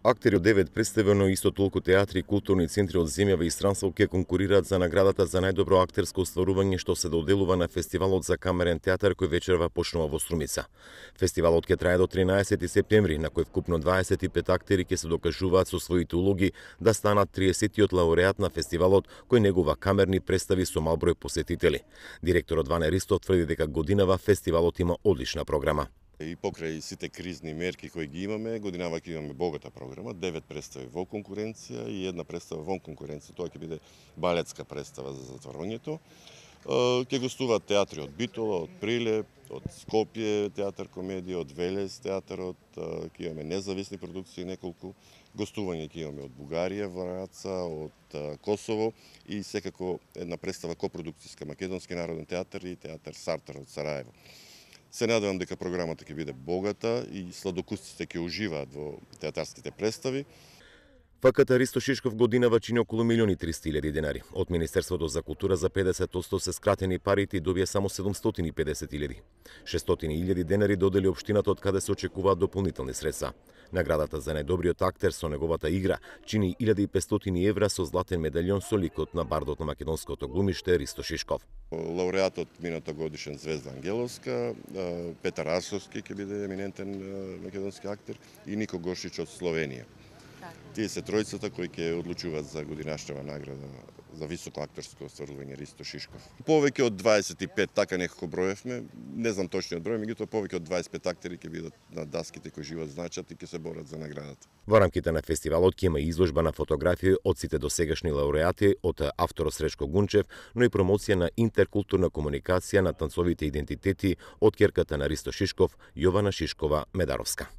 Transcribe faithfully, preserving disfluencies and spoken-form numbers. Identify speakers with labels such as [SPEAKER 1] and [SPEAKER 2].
[SPEAKER 1] Актери од девет представи, но исто толку театри и културни центри од земјава и странство ќе конкурираат за наградата за најдобро актерско остварување што се доделува на Фестивалот за камерен театар кој вечерва почнува во Струмица. Фестивалот ќе трае до тринаесети септември, на кој вкупно дваесет и пет актери ќе се докажуваат со своите улоги да станат триесеттиот лауреат на фестивалот кој негува камерни представи со мал број посетители. Директорот Ване Ристов тврди дека годинава фестивалот има одлична програма.
[SPEAKER 2] И покрај сите кризни мерки кои ги имаме, годинава ќе имаме богата програма, девет представи во конкуренција и една представа вон конкуренција. Тоа ќе биде балетска представа за затворањето. Ќе гостуваат театри од Битола, од Прилеп, од Скопје театар комедија, од Велес театарот, ќе имаме независни продукции неколку, гостување ќе имаме од Бугарија, Враца, од Косово и секако една представа копродукцијска Македонски народен театар и театар Сартар од Сараево. Се надевам дека програмата ќе биде богата и сладокусците ќе уживаат во театарските представи.
[SPEAKER 1] ФКТ Ристо Шишков годинава чини околу милиони и триста илјади денари. Од Министерството за култура за педесет одсто се скратени парите и добија само седумстотини и педесет илјади. шестстотини илјади денари додели општината од каде се очекуваат дополнителни средства. Наградата за најдобриот актер со неговата игра чини илјада и петстотини евра со златен медалјон со ликот на бардот на македонското глумиште Ристо Шишков.
[SPEAKER 2] Лауреатот мината годишен Звезда Ангеловска, Петар Арсовски ќе биде еминентен македонски актер и Нико Гошич од Словенија. Тие се тројцата кои ќе одлучуваат за годинашнава награда за високо актерско остварување Ристо Шишков. Повеќе од дваесет и пет, така некако броевме, не знам точниот број, меѓутоа повеќе од дваесет и пет актери ќе бидат на даските кои живеат значат и ќе се борат за наградата.
[SPEAKER 1] Во рамките на фестивалот ќе има изложба на фотографии од сите досегашни лауреати, од авторот Сречко Гунчев, но и промоција на интеркултурна комуникација на танцовите идентитети од ќерката на Ристо Шишков, Јована Шишкова Медаровска.